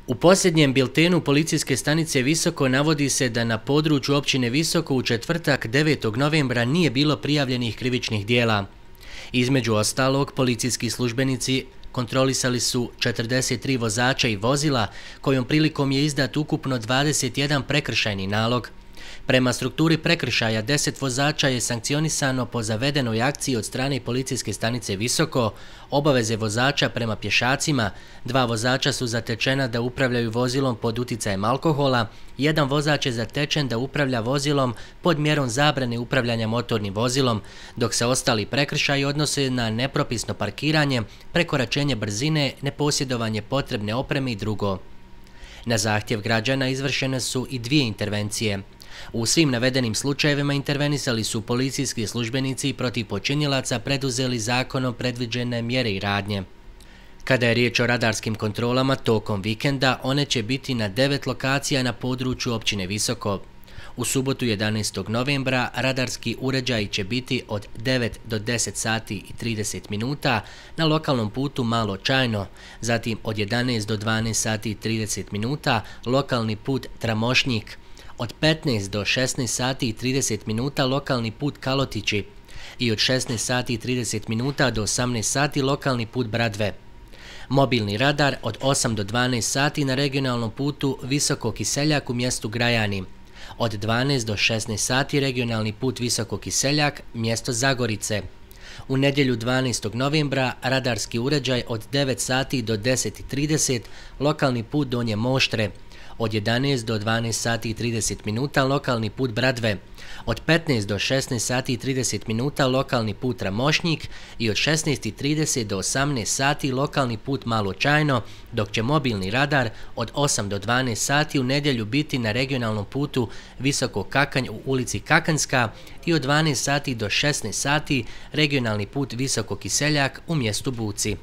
U posljednjem biltenu policijske stanice Visoko navodi se da na području općine Visoko u četvrtak 9. novembra nije bilo prijavljenih krivičnih dijela. Između ostalog, policijski službenici kontrolisali su 43 vozača i vozila, kojom prilikom je izdat ukupno 21 prekršajni nalog. Prema strukturi prekršaja, 10 vozača je sankcionisano po zavedenoj akciji od strane policijske stanice Visoko, obaveze vozača prema pješacima, 2 vozača su zatečena da upravljaju vozilom pod uticajem alkohola, 1 vozač je zatečen da upravlja vozilom pod mjerom zabrane upravljanja motornim vozilom, dok se ostali prekršaji odnose na nepropisno parkiranje, prekoračenje brzine, neposjedovanje potrebne opreme i drugo. Na zahtjev građana izvršene su i 2 intervencije. U svim navedenim slučajevima intervenisali su policijski službenici i protiv počinilaca preduzeli zakonom predviđene mjere i radnje. Kada je riječ o radarskim kontrolama tokom vikenda, one će biti na 9 lokacija na području općine Visoko. U subotu 11. novembra radarski uređaji će biti od 9 do 10 sati i 30 minuta na lokalnom putu Malo Čajno, zatim od 11 do 12 sati i 30 minuta lokalni put Tramošnjik, od 15 do 16 sati i 30 minuta lokalni put Kalotići i od 16 sati i 30 minuta do 18 sati lokalni put Bradve. Mobilni radar od 8 do 12 sati na regionalnom putu Visoko Kiseljak u mjestu Grajani. Od 12 do 16 sati regionalni put Visoko Kiseljak, mjesto Zagorice. U nedjelju 12. novembra radarski uređaj od 9 sati do 10:30 lokalni put Donje Moštre. Od 11 do 12 sati i 30 minuta lokalni put Bradve, od 15 do 16 sati i 30 minuta lokalni put Tramošnjik i od 16:30 do 18 sati lokalni put Malo Čajno, dok će mobilni radar od 8 do 12 sati u nedjelju biti na regionalnom putu Visoko Kakanj u ulici Kakanjska i od 12 sati do 16 sati regionalni put Visoko Kiseljak u mjestu Buci.